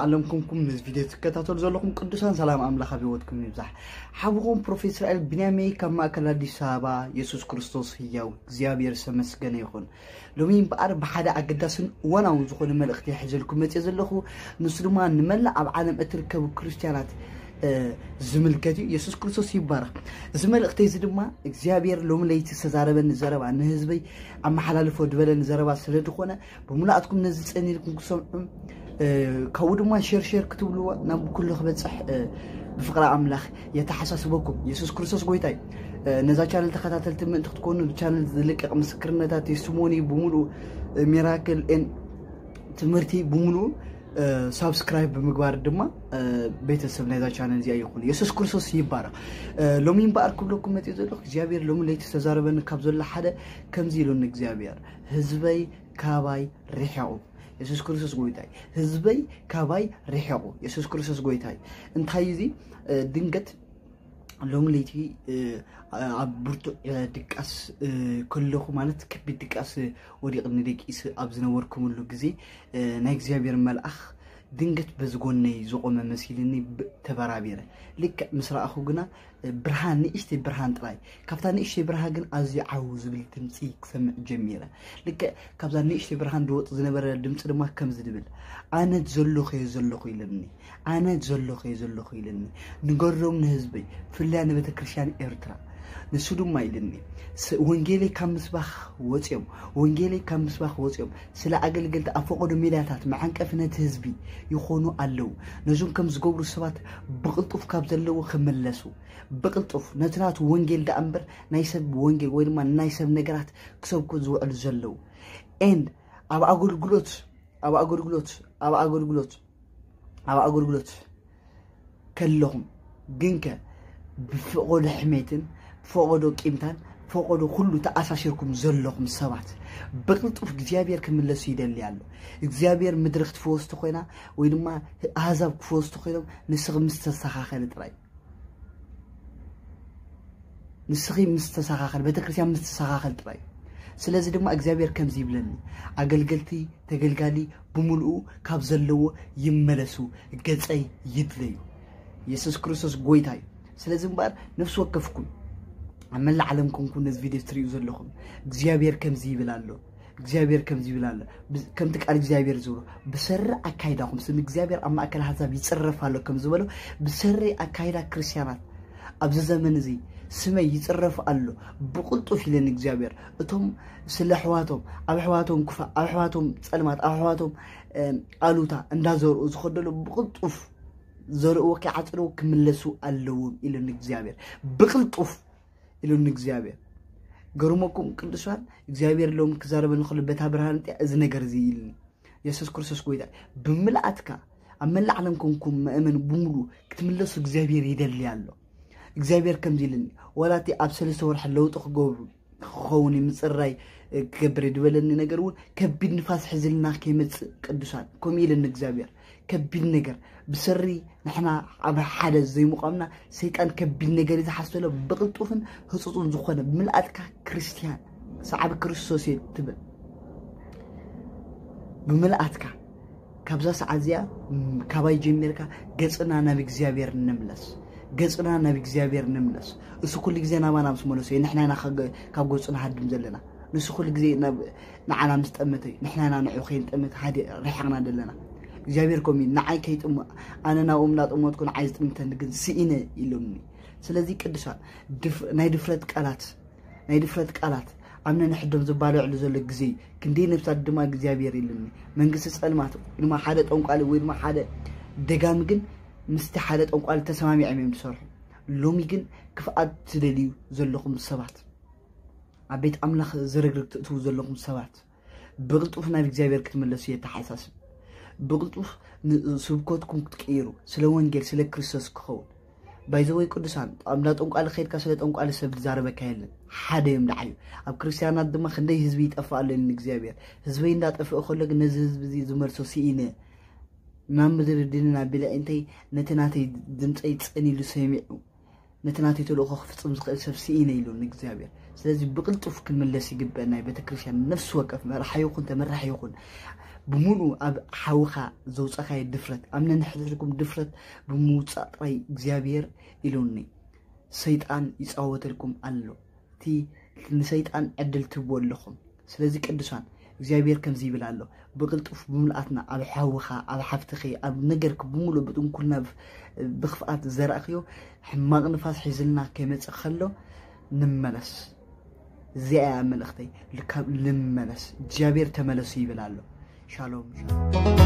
ዓለም ኩንኩም ነዚ ቪድዮ ትከታተሉ ዘለኹም ቅዱሳን፣ ሰላም ኣምላኽ ኣብ ህይወትኩም ይብዛሕ። ሓብኹም ፕሮፌት እስራኤል ቢንያመይ ካብ ማእከል ኣዲስ ኣበባ። የሱስ ክርስቶስ ህያው፣ እግዚኣብሔር ዝተመስገነ ይኹን። ሎሚ እምበኣር ብሓደ ኣገዳስን እዋናውን ዝኾነ መልእኽቲ ሒዘልኩም መፅየ ዘለኹ። ንሱ ድማ ንመላእ ኣብ ዓለም እትርከቡ ክርስትያናት ዝምልከት እዩ። የሱስ ክርስቶስ ይባረኽ። እዚ መልእኽቲ እዚ ድማ እግዚኣብሔር ሎሚ ለይቲ ዝተዛረበኒ ዘረባ፣ ንህዝበይ ኣመሓላልፎ ዝበለኒ ዘረባ ስለ ዝኾነ፣ ብምልኣትኩም ነዚ ጸኒልኩም ክሰምዑ፣ ካብኡ ድማ ሸር ሸር ክትብልዎ ናብ ኩሉ ክበጽሕ ብፍቕሪ ኣምላኽ የተሓሳስበኩም። የሱስ ክርስቶስ ጎይታይ። ነዛ ቻነል ተኸታተልቲ ምእንቲ ክትኮኑ፣ ቻነል ዝልቀቕ ምስክርነታት፣ ቴስቲሞኒ ብምሉኡ፣ ሚራክል ኤን ትምህርቲ ብምሉኡ ሳብስክራይብ ብምግባር ድማ ቤተሰብ ናይዛ ቻነል እዚኣ ይኹን። የሱስ ክርስቶስ ይባረኽ። ሎሚ እምበኣር ክብለኩም መፅእ ዘለኹ፣ እግዚኣብሔር ሎሚ ለይቲ ዝተዛረበኒ ካብ ዘሎ ሓደ ከምዚ ኢሉኒ እግዚኣብሔር፣ ህዝበይ ካባይ ርሕቑ። የሱስ ክርስቶስ ጎይታይ፣ ህዝበይ ካባይ ርሕቑ። የሱስ ክርስቶስ ጎይታይ። እንታይ እዚ ድንገት ሎሚ ለይቲ ኣብ ብርቱዕ ድቃስ ከለኹ፣ ማለት ከቢድ ድቃስ ወዲቕኒ ደቂስ ኣብ ዝነበርኩምሉ ግዜ፣ ናይ እግዚኣብሔር መልኣኽ ድንገት በዚ ጎነይ ዝቖመ መሲልኒ ተበራቢረ። ልክዕ ምስ ረኣኹ ግና ብርሃን፣ ንእሽተይ ብርሃን ጥራይ፣ ካብታ ንእሽተይ ብርሃን ግን ኣዝዩ ዓው ዝብል ድምፂ ክሰምዕ ጀሚረ። ልክዕ ካብዛ ንእሽተይ ብርሃን ዝወፅ ዝነበረ ድምፂ ድማ ከምዚ ዝብል፣ ኣነ ዘሎኸዮ ዘለኹ ኢለኒ። ኣነ ዘሎኸዮ ዘለኹ ኢለኒ። ንገሮም ንህዝበይ፣ ብፍላይ ንቤተ ክርስቲያን ኤርትራ። ንሱ ድማ ኢለኒ፣ ወንጌለይ ካብ ምስባኽ ወፅዮም፣ ወንጌለይ ካብ ምስባኽ ወፅዮም ስለ ኣገልገልቲ ኣብ ፈቐዶ ሜዳታት መዓንቀፊ ነቲ ህዝቢ ይኾኑ ኣለዉ። ነዞም ከም ዝገብሩ ሰባት ብቕልጡፍ ካብ ዘለዎ ክምለሱ፣ ብቕልጡፍ ነቲ ናቱ ወንጌል ደኣ እምበር ናይ ሰብ ወንጌል ወይ ድማ ናይ ሰብ ነገራት ክሰብኩ ዝውዕሉ ዘለዉ። ኤንድ ኣብ ኣገልግሎት ኣብ ኣገልግሎት ኣብ ኣገልግሎት ኣብ ኣገልግሎት ከለኹም ግንከ ብፈቐዶ ሕሜትን ፈቐዶ ቂምታን ፈቐዶ ኩሉ ተኣሳሲርኩም ዘለኹም ሰባት ብቕልጡፍ እግዚኣብሔር ክምለሱ ይደሊ ኣሎ። እግዚኣብሔር ምድሪ ክትፈወስ ተኾይና ወይ ድማ ኣህዛብ ክፈወስ ተኾይኖም ንስኺ ምስ ተስተኻኸሊ ጥራይ ንስኺ ምስ ተሰኻኸል፣ ቤተክርስትያን ምስ ተሰኻኸል ጥራይ። ስለዚ ድማ እግዚኣብሔር ከምዚ ይብለኒ፣ ኣገልገልቲ ተገልጋሊ ብምልኡ ካብ ዘለዎ ይመለሱ፣ ገጸይ ይድለዩ። የሱስ ክርስቶስ ጎይታ እዩ። ስለዚ እምበኣር ነፍሲ ወከፍኩም ኣብ መላእ ዓለም ኮንኩም ነዚ ቪድዮ ትርእዩ ዘለኹም እግዚኣብሔር ከምዚ ይብል ኣሎ። እግዚኣብሔር ከምዚ ይብል ኣሎ። ከምቲ ቃል እግዚኣብሔር ዝብሎ ብሰሪ ኣካይዳኹም ስም እግዚኣብሔር ኣብ ማእከል ኣሕዛብ ይጽረፍ ኣሎ ከም ዝበሎ ብሰሪ ኣካይዳ ክርስትያናት ኣብዚ ዘመን እዚ ስመይ ይጽረፍ ኣሎ ብቕልጡፍ ኢለኒ እግዚኣብሔር። እቶም ስለ ኣሕዋቶም ኣብ ኣሕዋቶም ክፋእ ኣብ ኣሕዋቶም ጸልማት ኣብ ኣሕዋቶም ኣሉታ እንዳዘርኡ ዝኸደሉ ብቕልጡፍ ዘርእዎ ከይዓጽድዎ ክምለሱ ኣለዎም ኢለኒ እግዚኣብሔር። ብቕልጡፍ ኢሉኒ እግዚኣብሔር። ገርመኩም ቅዱሳን እግዚኣብሔር ሎም ክዛረበኒ ከሎ በታ ብርሃን እቲያ እዚ ነገር እዚ ኢልኒ። የሱስ ክርስቶስ ጎይታ ብምልኣትካ ኣብ መላእ ዓለም ኮንኩም መእመን ብምሉ ክትምለሱ እግዚኣብሔር ይደሊ ኣሎ። እግዚኣብሔር ከምዚ ኢልኒ ዋላ እቲ ኣብ ሰለስተ ወርሒ ለውጢ ክገብሩ ክኸውን ምፅራይ ክገብር ዝበለኒ ነገር እውን ከቢድ ንፋስ ሕዝልና ከይመፅእ ቅዱሳን ከምኡ ኢልኒ እግዚኣብሔር። ከቢድ ነገር ብሰሪ ንሕና ኣብ ሓደ ዘይምቋምና ሰይጣን ከቢድ ነገር እዩ ዝሓስበሎ ብቕልጡፍን ህፁፁን ዝኾነ ብምልኣትካ ክርስትያን ሰዓቢ ክርስቶስ እየ ትብል ብምልኣትካ ካብዛ ሰዓት እዚኣ ካባይ ጀሚርካ ገፅና ናብ እግዚኣብሔር ንምለስ ገፅና ናብ እግዚኣብሔር ንምለስ እሱ ኩሉ ግዜ ናባና ምስ መለሶ ንሕና ኢና ካብ ገፁ ንሃድም ዘለና ንሱ ኩሉ ግዜ ንዓና ምስ ጠመተ እዩ ንሕና ኢና ንዑ ከይንጠምት ሃዲ ርሒቕና ዘለና እግዚኣብሔር ከምኡ እዩ ንዓይ ከይጥሙ ኣነ ናብኦም እናጠመትኩ ንዓይ ዝጥምተኒ ግን ስኢነ ኢሎምኒ ስለዚ ቅዱሳን ናይ ድፍረት ቃላት ናይ ድፍረት ቃላት ኣብ ነንሕዶም ዝባልዕሉ ዘሎ ግዜ እዩ ክንደይ ነብሳት ድማ እግዚኣብሔር ኢሉኒ መንግስቲ ጸልማት ወይ ድማ ሓደ ጠንቋሊ ወይ ድማ ሓደ ደጋሚ ግን ምስቲ ሓደ ጠንቋሊ ተሰማሚዖም እዮም ዝሰርሑ ሎሚ ግን ክፍኣት ትደልዩ ዘለኹም ሰባት ኣብ ቤት ኣምላኽ ዝርግርግ ትእትዉ ዘለኹም ሰባት ብቕልጡፍ ናብ እግዚኣብሔር ክትምለሱ የተሓሳስብ ብቕልጡፍ ስብከትኩም ክትቅይሩ ስለ ወንጌል ስለ ክርስቶስ ክኸውን ባይዘወይ ቅዱሳን ኣብ እንዳ ጠንቋሊ ከይድካ ስለ ጠንቋሊ ሰብ ዝዛረበካ የለን ሓደ እዮም ደዓዩ ኣብ ክርስትያናት ድማ ክንደይ ህዝቢ ይጠፍእ ኣሎ ንእግዚኣብሔር ህዝበይ እንዳጠፍእ ከሎ ግን ነዚ ህዝቢ እዚ ዝመልሶ ስኢነ ናብ ምድሪ ድንን ኣቢለ እንተይ ነቲ ናተይ ድምፀይ ጸኒሉ ሰሚዑ ነቲ ናተይ ተልእኾ ክፍፅም ዝኽእል ሰብ ስኢነ ኢሉ ንእግዚኣብሔር ስለዚ ብቕልጡፍ ክንምለስ ይግበአና እዩ ቤተክርስትያን ነፍሲ ወከፍ መራሒ ይኹን ተመራሒ ይኹን ብምሉኡ ኣብ ሓውኻ ዘውፀኻዮ ድፍረት ኣብ ነንሕድሕድኩም ድፍረት ብምውፃእ ጥራይ እግዚኣብሔር ኢሉኒ። ሰይጣን ይፃወተልኩም ኣሎ። እቲ ንሰይጣን ዕድል ትህብዎ ኣለኹም። ስለዚ ቅዱሳን እግዚኣብሔር ከምዚ ይብል ኣሎ፣ ብቕልጡፍ ብምልኣትና ኣብ ሓውኻ ኣብ ሓፍትኺ ኣብ ነገርክ ብምሉእ ብጥንኩልና ብኽፍኣት ዝዘራእኽዮ ሕማቕ ንፋስ ሒዝልና ከይመፅእ ከሎ ንመለስ። እዚኣ እያ መልእኽተይ። ልካብ ልመለስ እግዚኣብሔር ተመለሱ ይብል ኣሎ። ሻሎም ሻሎም።